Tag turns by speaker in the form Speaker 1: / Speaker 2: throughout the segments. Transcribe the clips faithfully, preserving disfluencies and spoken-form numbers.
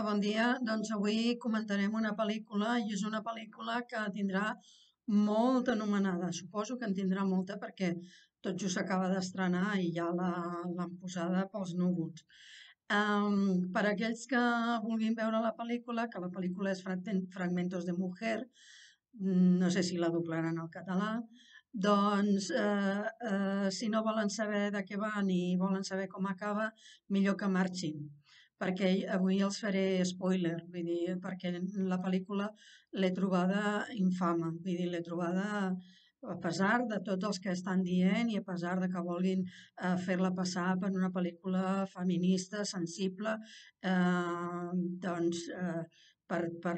Speaker 1: Hola, bon dia. Doncs avui comentarem una pel·lícula i és una pel·lícula que tindrà molta anomenada. Suposo que en tindrà molta perquè tot just s'acaba d'estrenar i ja la- l'han posada pels núvols. Um, per aquells que vulguin veure la pel·lícula, que la pel·lícula és Fragmen- Fragmentos de Mujer, mm, no sé si la doblaran al català, doncs eh, eh, si no volen saber de què va ni volen saber com acaba, millor que marxin, perquè avui els faré spoiler, vull dir, perquè la pel·lícula l'he trobada infame, vull dir, l'he trobada a pesar de tots els que estan dient i a pesar de que vulguin eh, fer-la passar per una pel·lícula feminista, sensible, eh, doncs eh, per, per,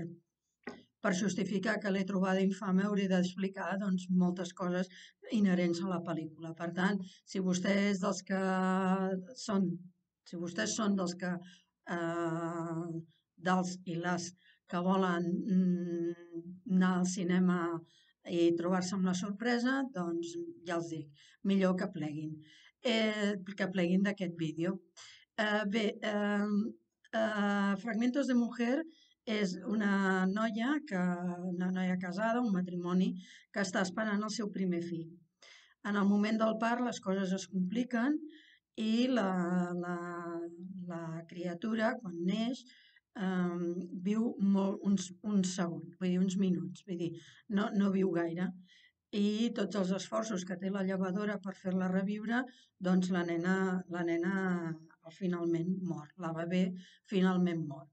Speaker 1: per justificar que l'he trobada infame hauré d'explicar doncs, moltes coses inherents a la pel·lícula. Per tant, si vostès dels que són, si vostès són dels que eh, dels i les que volen mm, anar al cinema i trobar-se amb la sorpresa, doncs ja els dic, millor que pleguin, eh, que pleguin d'aquest vídeo. Eh, bé, eh, eh, Fragmentos de Mujer és una noia, que, una noia casada, un matrimoni, que està esperant el seu primer fill. En el moment del part les coses es compliquen i la, la, la criatura, quan neix, eh, viu molt, uns, uns segons, vull dir, uns minuts, vull dir, no, no viu gaire. I tots els esforços que té la llevadora per fer-la reviure, doncs la nena, la nena finalment mor, la bebè finalment mor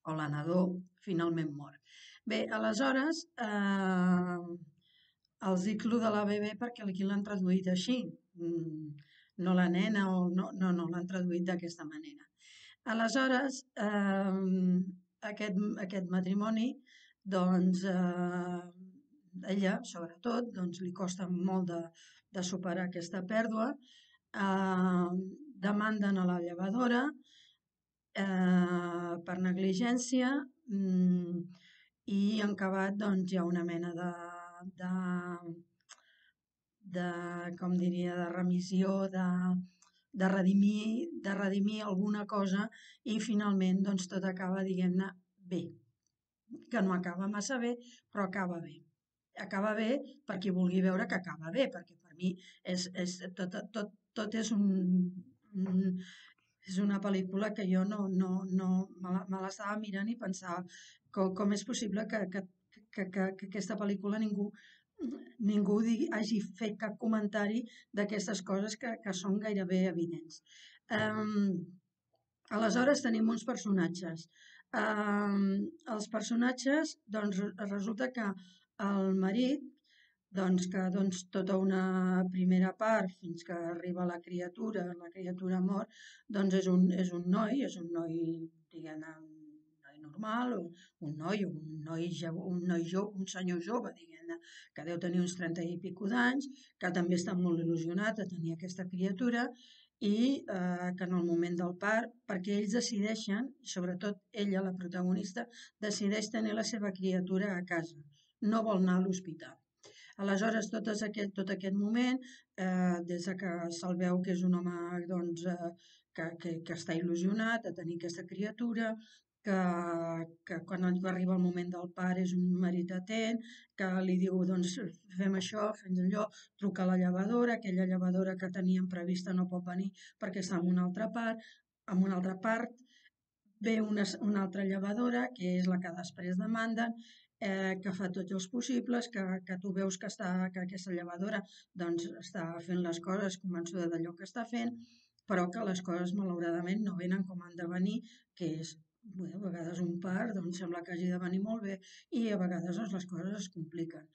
Speaker 1: o la nadó finalment mor. Bé, aleshores, eh, els dic lo de la bebè perquè aquí l'han traduït així, mm, no la nena, o no, no, no l'han traduït d'aquesta manera. Aleshores, eh, aquest, aquest matrimoni, doncs, eh, ella, sobretot, doncs, li costa molt de, de superar aquesta pèrdua, eh, demanden a la llevadora, eh, per negligència, mm, i en acabat doncs, hi ha una mena de, de, de com diria, de remissió, de, de, redimir, de redimir alguna cosa i finalment doncs, tot acaba, diguem-ne, bé, que no acaba massa bé, però acaba bé. Acaba bé per qui vulgui veure que acaba bé, perquè per mi és, és, tot, tot, tot és un, un és una pel·lícula que jo no, no, no me l'estava mirant i pensava com, com és possible que, que, que, que, que aquesta pel·lícula ningú, ningú digui, hagi fet cap comentari d'aquestes coses que, que són gairebé evidents. Um, aleshores tenim uns personatges. Um, els personatges, doncs resulta que el marit, doncs que doncs, tota una primera part fins que arriba la criatura, la criatura mor, doncs és un, és un noi, és un noi, diguem-ne, un noi normal, o un noi, un noi, un noi jove, un senyor jove, diguem-ne, que deu tenir uns trenta i pico d'anys, que també està molt il·lusionat a tenir aquesta criatura i eh, que en el moment del part, perquè ells decideixen, sobretot ella, la protagonista, decideix tenir la seva criatura a casa, no vol anar a l'hospital. Aleshores, tot aquest, tot aquest moment, eh, des que se'l veu que és un home doncs, eh, que, que, que està il·lusionat a tenir aquesta criatura, que, que quan arriba el moment del part és un marit atent, que li diu doncs, fem això, fem allò, truca a la llevadora, aquella llevadora que teníem prevista no pot venir perquè està en una altra part, en una altra part, ve una, una altra llevadora, que és la que després demanden, eh, que fa tots els possibles, que, que tu veus que, està, que aquesta llevadora doncs, està fent les coses convençuda d'allò que està fent, però que les coses malauradament no venen com han de venir, que és, bé, a vegades un part doncs, sembla que hagi de venir molt bé i a vegades doncs, les coses es compliquen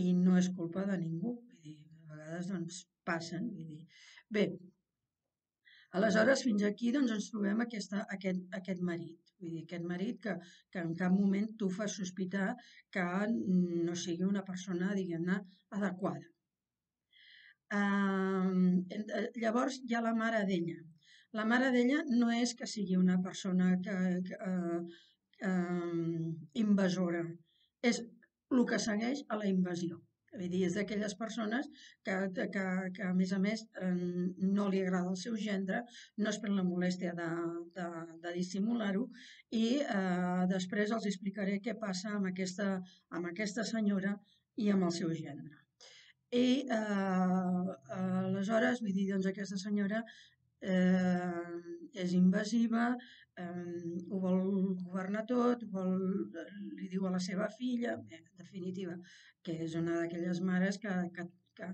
Speaker 1: i no és culpa de ningú, vull dir, a vegades doncs, passen. Vull dir. Bé, aleshores, fins aquí doncs, ens trobem aquesta, aquest, aquest marit. Vull dir, aquest marit que, que en cap moment tu fas sospitar que no sigui una persona, diguem-ne, adequada. Uh, llavors hi ha la mare d'ella. La mare d'ella no és que sigui una persona que, que, uh, uh, invasora, és el que segueix a la invasió. Vull dir, és d'aquelles persones que, que, que, a més a més, eh, no li agrada el seu gendre, no es pren la molèstia de, de, de dissimular-ho i eh, després els explicaré què passa amb aquesta, amb aquesta senyora i amb el seu gendre. I eh, aleshores, vull dir, doncs aquesta senyora eh, és invasiva, eh, ho vol governar tot, vol, li diu a la seva filla, bé, en definitiva, que és una d'aquelles mares que, que, que,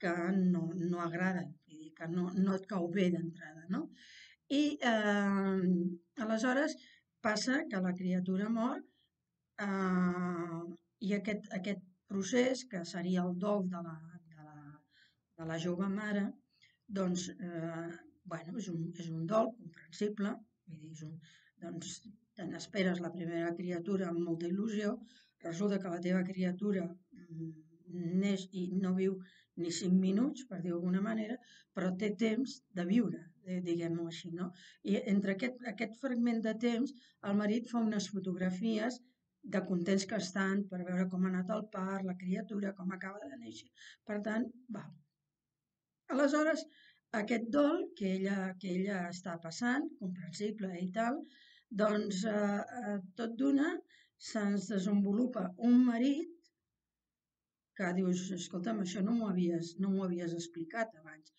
Speaker 1: que no, no agraden, vull dir, que no, no et cau bé d'entrada, no? I eh, aleshores passa que la criatura mor eh, i aquest, aquest procés, que seria el dol de la, de la, de la jove mare, doncs, eh, bueno, és un, és un dol comprensible, vull dir, és un, doncs, te n'esperes la primera criatura amb molta il·lusió, resulta que la teva criatura mm, neix i no viu ni cinc minuts, per dir-ho d'alguna manera, però té temps de viure, diguem-ho així, no? I entre aquest, aquest fragment de temps, el marit fa unes fotografies de contents que estan per veure com ha anat el part, la criatura, com acaba de néixer. Per tant, va. Aleshores, aquest dol que ella, que ella està passant, comprensible i tal, doncs eh, eh, tot d'una se'ns desenvolupa un marit que dius, escolta'm, això no m'ho havies, no m'ho havies explicat abans.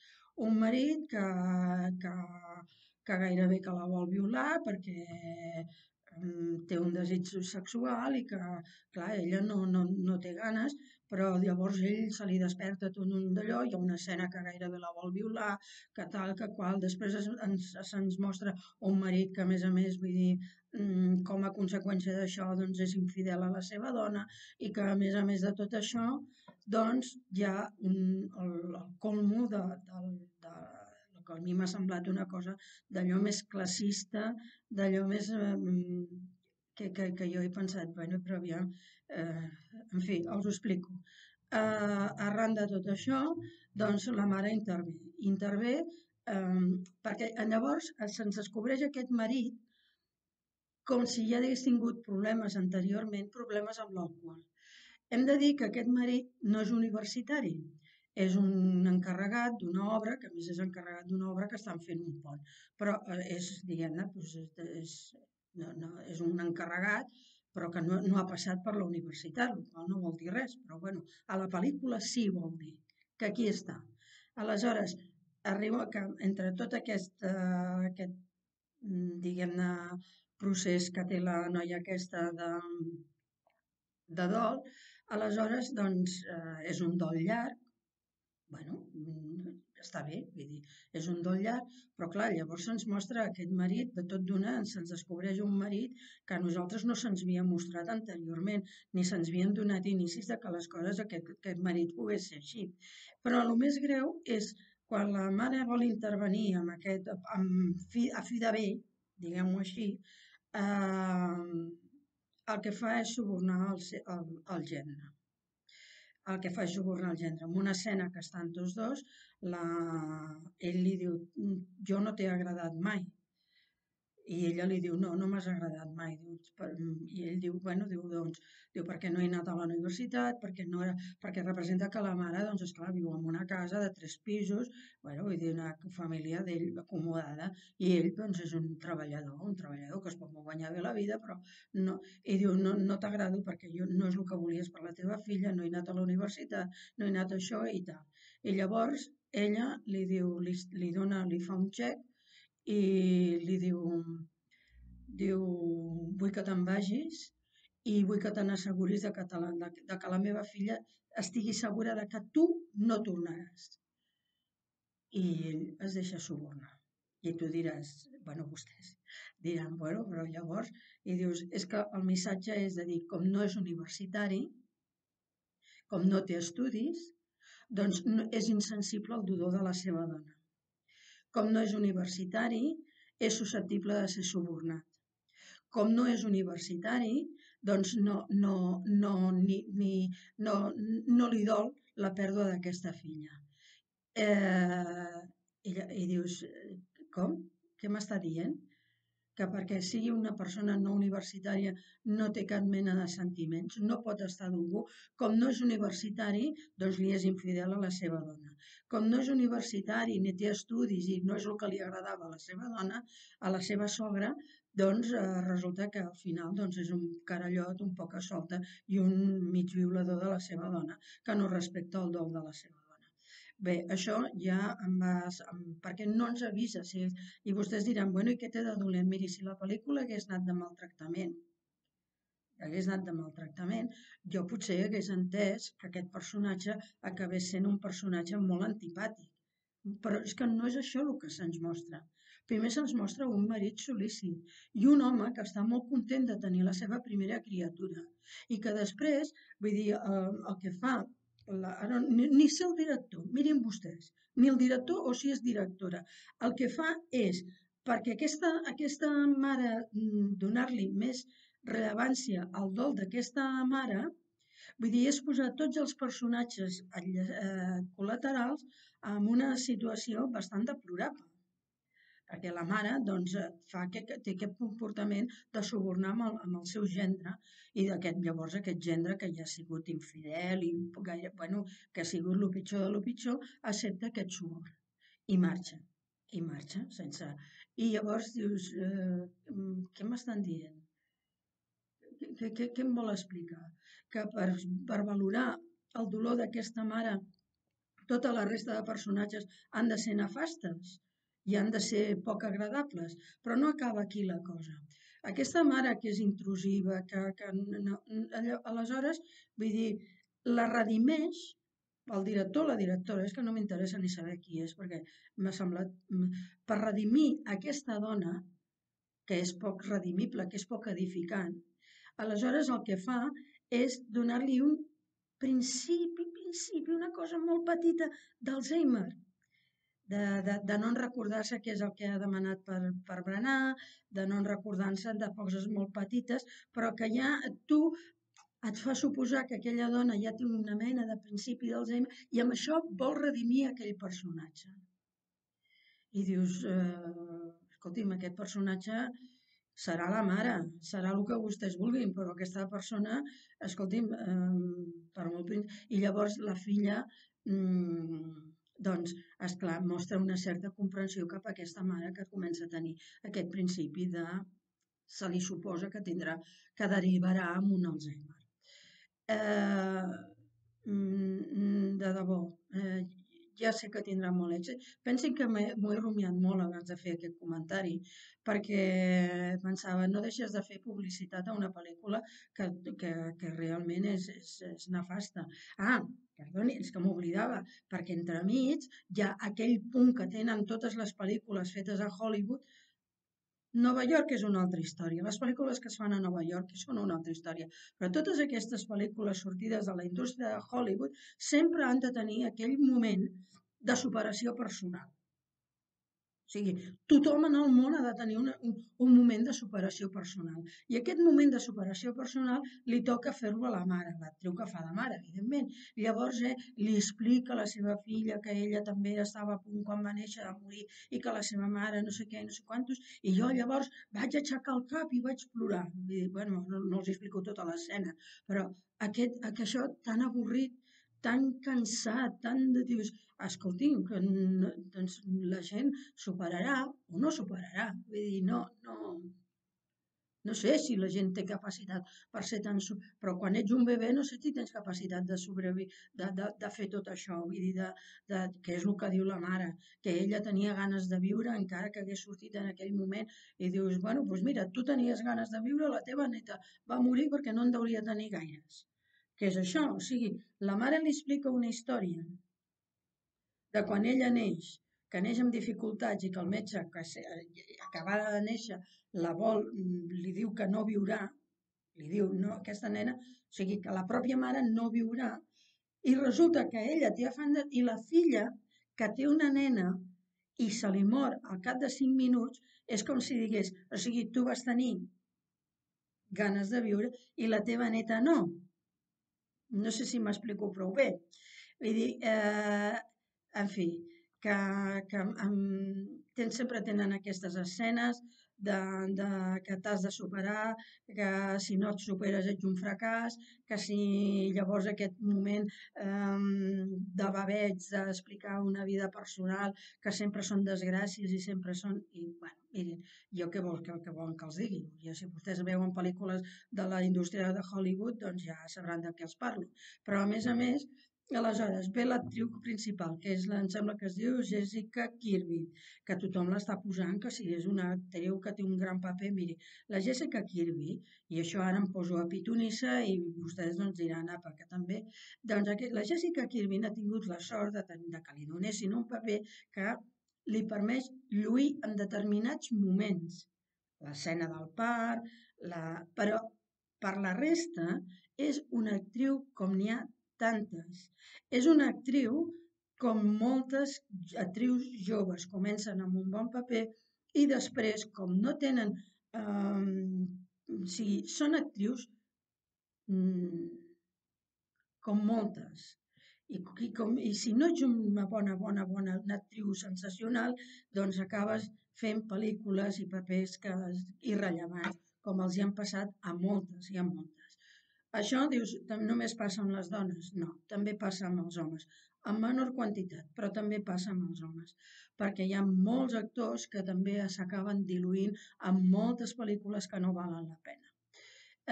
Speaker 1: Un marit que, que, que gairebé que la vol violar perquè mm, té un desig sexual i que, clar, ella no, no, no té ganes, però llavors ell se li desperta tot un d'allò, hi ha una escena que gairebé la vol violar, que tal, que qual, després es, ens, se'ns mostra un marit que a més a més, vull dir, mm, com a conseqüència d'això doncs és infidel a la seva dona i que a més a més de tot això doncs hi ha un, el, el colmo de, de, de, de que a mi m'ha semblat una cosa d'allò més classista, d'allò més eh, que, que, que jo he pensat, bueno, però aviam, eh, en fi, us ho explico. Eh, arran de tot això, doncs la mare intervé. Intervé eh, perquè llavors se'ns descobreix aquest marit com si ja hagués tingut problemes anteriorment, problemes amb l'alcohol. Hem de dir que aquest marit no és universitari, és un encarregat d'una obra, que a més és encarregat d'una obra que estan fent un pont, però és, diguem-ne, doncs és, no, no, és un encarregat, però que no, no ha passat per la universitat, el qual no vol dir res, però bueno, a la pel·lícula sí vol dir, que aquí està. Aleshores, arriba que entre tot aquest, eh, aquest diguem-ne, procés que té la noia aquesta de, de dol, aleshores, doncs, eh, és un dol llarg, bueno, està bé, vull dir, és un dol llarg, però clar, llavors se'ns mostra aquest marit, de tot d'una, se'ns descobreix un marit que a nosaltres no se'ns havia mostrat anteriorment, ni se'ns havien donat inicis de que les coses, aquest, aquest marit pogués ser així. Però el més greu és quan la mare vol intervenir amb aquest, amb fi, a fi de bé, diguem-ho així, eh, el que fa és subornar el, el, el gendre. El que fa és subornar el gendre. En una escena que estan tots dos, la... ell li diu, jo no t'he agradat mai. I ella li diu, no, no m'has agradat mai. I ell diu, bueno, diu, doncs, diu, perquè no he anat a la universitat, perquè, no era, perquè representa que la mare, doncs, esclar, viu en una casa de tres pisos, bueno, vull dir, una família d'ell acomodada, i ell, doncs, és un treballador, un treballador que es pot guanyar bé la vida, però no, i diu, no, no t'agrado perquè jo no és el que volies per la teva filla, no he anat a la universitat, no he anat a això i tal. I llavors, ella li diu, li, li dona, li fa un xec, i li diu, diu, vull que te'n vagis i vull que te n'asseguris de, que te la, de, de que la meva filla estigui segura de que tu no tornaràs. I ell es deixa subornar. I tu diràs, bueno, vostès diran, bueno, però llavors, i dius, és que el missatge és de dir, com no és universitari, com no té estudis, doncs no, és insensible al dolor de la seva dona. Com no és universitari, és susceptible de ser subornat. Com no és universitari, doncs no, no, no, ni, ni, no, no li dol la pèrdua d'aquesta filla. Eh, i, I dius, com? Què m'està dient? que perquè sigui una persona no universitària no té cap mena de sentiments, no pot estar d'algú, com no és universitari, doncs li és infidel a la seva dona. Com no és universitari ni té estudis i no és el que li agradava a la seva dona, a la seva sogra, doncs eh, resulta que al final doncs, és un carallot, un poca solta i un mig violador de la seva dona, que no respecta el dol de la seva dona. Bé, això ja em va... perquè no ens avisa. Si, I vostès diran, bueno, i què té de dolent? Miri, si la pel·lícula hagués anat de maltractament, hagués anat de maltractament, jo potser hagués entès que aquest personatge acabés sent un personatge molt antipàtic. Però és que no és això el que se'ns mostra. Primer se'ns mostra un marit sol·lícit i un home que està molt content de tenir la seva primera criatura i que després, vull dir, el, el que fa, la, ni, ni sé el director, mirin vostès, ni el director o si és directora, el que fa és, perquè aquesta, aquesta mare, donar-li més rellevància al dol d'aquesta mare, vull dir, és posar tots els personatges eh, col·laterals en una situació bastant deplorable. Perquè la mare doncs, fa que, té aquest comportament de subornar amb el, amb el seu gendre i d'aquest llavors aquest gendre que ja ha sigut infidel i gaire, bueno, que ha sigut el pitjor de lo pitjor, accepta aquest suborn i marxa. I marxa sense... I llavors dius, eh, què m'estan dient? Què, què, què em vol explicar? Que per, per valorar el dolor d'aquesta mare tota la resta de personatges han de ser nefastes i han de ser poc agradables, però no acaba aquí la cosa. Aquesta mare que és intrusiva, que, que no, aleshores, vull dir, la redimeix el director o la directora, és que no m'interessa ni saber qui és, perquè m'ha semblat, per redimir aquesta dona, que és poc redimible, que és poc edificant, aleshores el que fa és donar-li un principi, principi, una cosa molt petita d'Alzheimer, de, de, de no recordar-se què és el que ha demanat per, per berenar, de no recordar-se de coses molt petites, però que ja tu et fa suposar que aquella dona ja té una mena de principi d'Alzheimer i amb això vol redimir aquell personatge. I dius, eh, escolti'm, aquest personatge serà la mare, serà el que vostès vulguin, però aquesta persona, escolti'm, eh, per molt... I llavors la filla, mmm, doncs, esclar, mostra una certa comprensió cap a aquesta mare que comença a tenir aquest principi de... se li suposa que tindrà, que derivarà amb un Alzheimer. Eh, de debò, eh, ja sé que tindrà molt èxit. Pensin que m'ho he rumiat molt abans de fer aquest comentari, perquè pensava, no deixes de fer publicitat a una pel·lícula que, que, que realment és, és, és nefasta. Ah, perdoni, és que m'oblidava, perquè entremig hi ha aquell punt que tenen totes les pel·lícules fetes a Hollywood. Nova York és una altra història. Les pel·lícules que es fan a Nova York són una altra història. Però totes aquestes pel·lícules sortides de la indústria de Hollywood sempre han de tenir aquell moment de superació personal. O sigui, tothom en el món ha de tenir una, un, un moment de superació personal. I aquest moment de superació personal li toca fer-lo a la mare, l'actriu que fa de mare, evidentment. Llavors eh, li explica a la seva filla que ella també estava a punt quan va néixer a morir i que la seva mare no sé què, no sé quantos, i jo llavors vaig aixecar el cap i vaig plorar. I dic, bueno, no, no els explico tota l'escena, però aquest, aquest, això tan avorrit, tan cansat, tan de... Dius, escolti'm, que no, doncs la gent superarà o no superarà. Vull dir, no, no, no sé si la gent té capacitat per ser tan... Però quan ets un bebè no sé si tens capacitat de sobreviure, de, de, de fer tot això. Vull dir, de, de, que és el que diu la mare, que ella tenia ganes de viure encara que hagués sortit en aquell moment. I dius, bueno, doncs mira, tu tenies ganes de viure, la teva neta va morir perquè no en deuria tenir gaires. Què és això? O sigui, la mare li explica una història de quan ella neix, que neix amb dificultats i que el metge que acabada de néixer la vol, li diu que no viurà, li diu, no, aquesta nena, o sigui, que la pròpia mare no viurà, i resulta que ella té afany de... I la filla, que té una nena i se li mor al cap de cinc minuts, és com si digués, o sigui, tu vas tenir ganes de viure i la teva neta no. No sé si m'explico prou bé. Vull dir, eh, en fi, que, que um, ten, sempre tenen aquestes escenes de, de que t'has de superar, que si no et superes ets un fracàs, que si llavors aquest moment eh, de babeig, d'explicar una vida personal, que sempre són desgràcies i sempre són... I, bueno, mirin, jo què vol que, que volen que els digui? Ja, si vostès veuen pel·lícules de la indústria de Hollywood, doncs ja sabran de què els parlo. Però, a més a més, aleshores, ve l'actriu principal, que és, em sembla que es diu Jessica Kirby, que tothom l'està posant, que si és una actriu que té un gran paper, miri, la Jessica Kirby, i això ara em poso a pitonissa i vostès doncs diran, apa, que també, doncs aquest, la Jessica Kirby ha tingut la sort de, de que li donessin un paper que li permet lluir en determinats moments. L'escena del part, la... però per la resta és una actriu com n'hi ha tantes. És una actriu com moltes actrius joves comencen amb un bon paper i després, com no tenen... Eh, o sigui, són actrius mm, com moltes. I, i, com, I si no ets una bona, bona, bona una actriu sensacional, doncs acabes fent pel·lícules i papers que, irrellevants, com els hi han passat a moltes i a moltes. Això, dius, només passa amb les dones? No, també passa amb els homes, en menor quantitat, però també passa amb els homes, perquè hi ha molts actors que també s'acaben diluint en moltes pel·lícules que no valen la pena.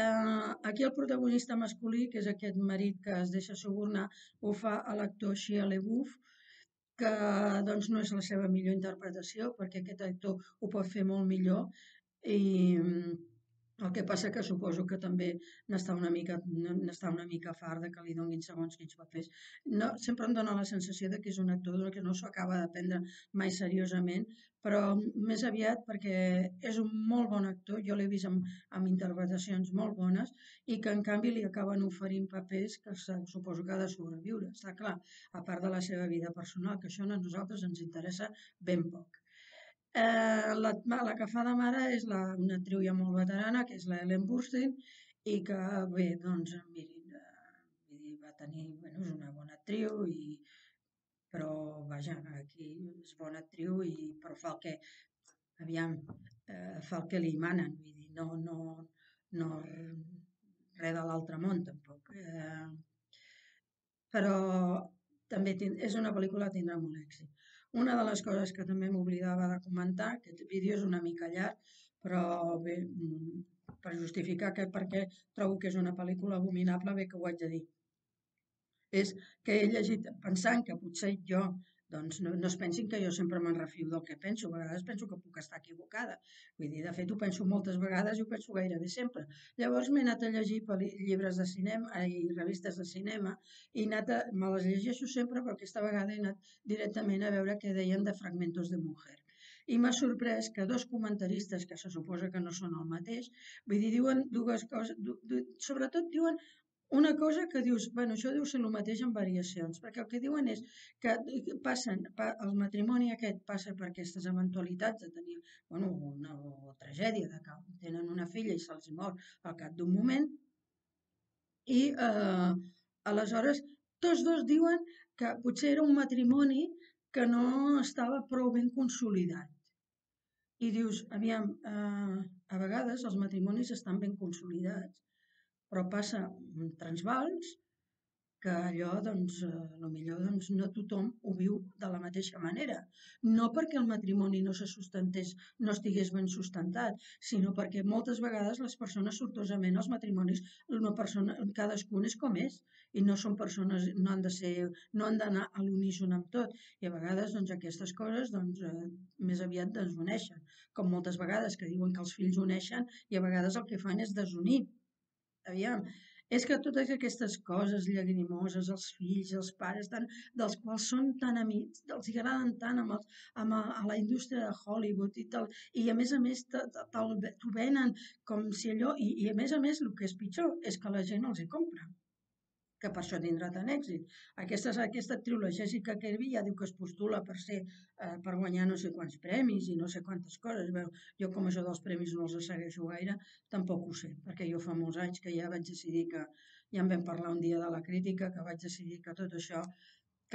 Speaker 1: Eh, aquí el protagonista masculí, que és aquest marit que es deixa subornar, ho fa a l'actor Shia LaBeouf, que doncs, no és la seva millor interpretació, perquè aquest actor ho pot fer molt millor i el que passa que suposo que també n'està una mica, n'està una mica fart de que li donin segons quins papers. No, sempre em dóna la sensació de que és un actor que no s'ho acaba de prendre mai seriosament, però més aviat perquè és un molt bon actor, jo l'he vist amb, amb interpretacions molt bones i que en canvi li acaben oferint papers que suposo que ha de sobreviure, està clar, a part de la seva vida personal, que això a nosaltres ens interessa ben poc. Eh, la, la que fa de mare és la, una actriu ja molt veterana, que és la Ellen Burstyn, i que, bé, doncs, mirin, eh, vull dir, va tenir, bueno, és una bona actriu, i, però, vaja, aquí és bona actriu, i, però fa el que, aviam, eh, fa el que li manen, vull dir, no, no, no res de l'altre món, tampoc. Eh, però també és una pel·lícula que tindrà molt èxit. Una de les coses que també m'oblidava de comentar, aquest vídeo és una mica llarg, però bé, per justificar que perquè trobo que és una pel·lícula abominable, bé que ho haig de dir. És que he llegit pensant que potser jo, doncs no, no es pensin que jo sempre me'n refio del que penso, a vegades penso que puc estar equivocada. Vull dir, de fet ho penso moltes vegades i ho penso gairebé sempre. Llavors m'he anat a llegir llibres de cinema i revistes de cinema i anat a, me les llegeixo sempre, però aquesta vegada he anat directament a veure què deien de Fragmentos de Mujer. I m'ha sorprès que dos comentaristes, que se suposa que no són el mateix, vull dir, diuen dues coses, du, du, sobretot diuen una cosa que dius, bueno, això deu ser el mateix amb variacions, perquè el que diuen és que passen, el matrimoni aquest passa per aquestes eventualitats de tenir, bueno, una o tragèdia, de que tenen una filla i se'ls mor al cap d'un moment, i eh, aleshores tots dos diuen que potser era un matrimoni que no estava prou ben consolidat. I dius, aviam, eh, a vegades els matrimonis estan ben consolidats, però passa transvals que allò, doncs, eh, millor doncs, no tothom ho viu de la mateixa manera. No perquè el matrimoni no se sustentés, no estigués ben sustentat, sinó perquè moltes vegades les persones, sortosament, els matrimonis, una persona, cadascun és com és, i no són persones, no han de ser, no han d'anar a l'uníson amb tot, i a vegades, doncs, aquestes coses, doncs, eh, més aviat desuneixen, com moltes vegades que diuen que els fills uneixen i a vegades el que fan és desunir. Aviam, és que totes aquestes coses llagrimoses, els fills, els pares, tant, dels quals són tan amics, els agraden tant amb els, amb a, a la indústria de Hollywood i tal, i a més a més t'ho venen com si allò, i, i a més a més el que és pitjor és que la gent els hi compra, que per això tindrà tant èxit. Aquesta, aquesta actriu, la Jessica Kirby, ja diu que es postula per ser, eh, per guanyar no sé quants premis i no sé quantes coses. Bé, jo com això dels premis no els segueixo gaire, tampoc ho sé, perquè jo fa molts anys que ja vaig decidir que, ja en vam parlar un dia de la crítica, que vaig decidir que tot això,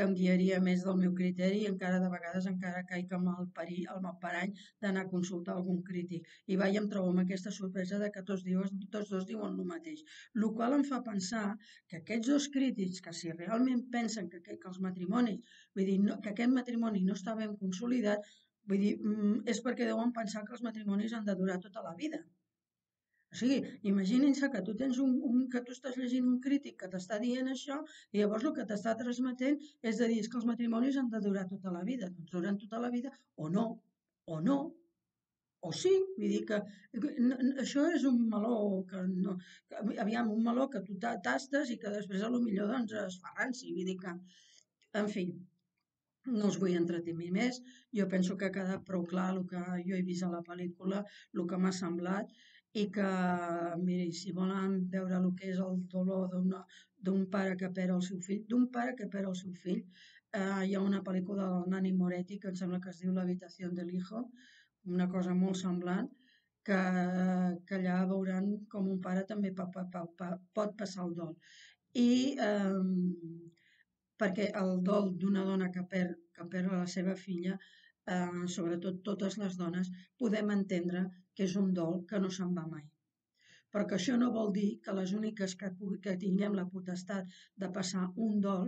Speaker 1: que em guiaria més del meu criteri i encara de vegades encara caic amb el, perill, amb el parany d'anar a consultar algun crític. I va, i em trobo amb aquesta sorpresa de que tots, diuen, tots dos diuen el mateix. El qual em fa pensar que aquests dos crítics, que si realment pensen que, que, que els matrimonis, vull dir, no, que aquest matrimoni no està ben consolidat, vull dir, és perquè deuen pensar que els matrimonis han de durar tota la vida. O sigui, imaginin-se que tu tens un, un, que tu estàs llegint un crític que t'està dient això i llavors el que t'està transmetent és de dir que els matrimonis han de durar tota la vida. Doncs duren tota la vida o no, o no, o sí. Vull dir que no, això és un meló que no, que, aviam, un meló que tu tastes i que després a lo millor doncs es fa ranci. Vull dir que, en fi, no us vull entretenir més. Jo penso que ha quedat prou clar el que jo he vist a la pel·lícula, el que m'ha semblat, i que, miri, si volen veure el que és el dolor d'un pare que perd el seu fill, d'un pare que perd el seu fill, eh, hi ha una pel·lícula del Nani Moretti que em sembla que es diu L'habitació del hijo, una cosa molt semblant, que, que allà veuran com un pare també pot, pot, pot passar el dol. I eh, perquè el dol d'una dona que perd, que perd la seva filla, eh, sobretot totes les dones, podem entendre que és un dol que no se'n va mai. Però que això no vol dir que les úniques que, que tinguem la potestat de passar un dol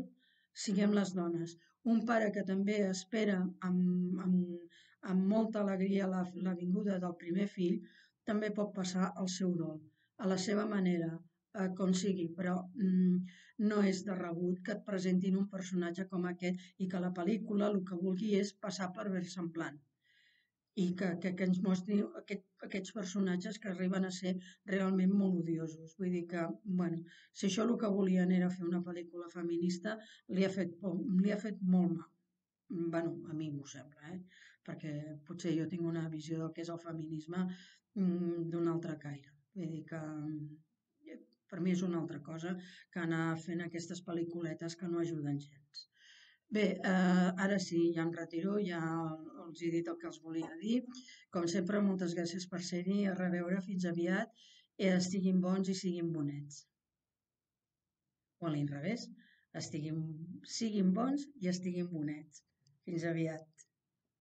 Speaker 1: siguem les dones. Un pare que també espera amb, amb, amb molta alegria la, la vinguda del primer fill, també pot passar el seu dol, a la seva manera, eh, com sigui, però mm, no és de rebut que et presentin un personatge com aquest i que la pel·lícula el que vulgui és passar per versemblant i que, que, que ens mostri aquest, aquests personatges que arriben a ser realment molt odiosos. Vull dir que, bueno, si això el que volien era fer una pel·lícula feminista, li ha fet, li ha fet molt mal. Bueno, a mi m'ho sembla, eh? Perquè potser jo tinc una visió del que és el feminisme mmm, d'un altre caire. Vull dir que per mi és una altra cosa que anar fent aquestes pel·lículetes que no ajuden gens. Bé, eh, ara sí, ja em retiro, ja els he dit el que els volia dir. Com sempre, moltes gràcies per ser-hi, a reveure, fins aviat, i estiguin bons i siguin bonets. O a l'inrevés, estiguin, siguin bons i estiguin bonets. Fins aviat.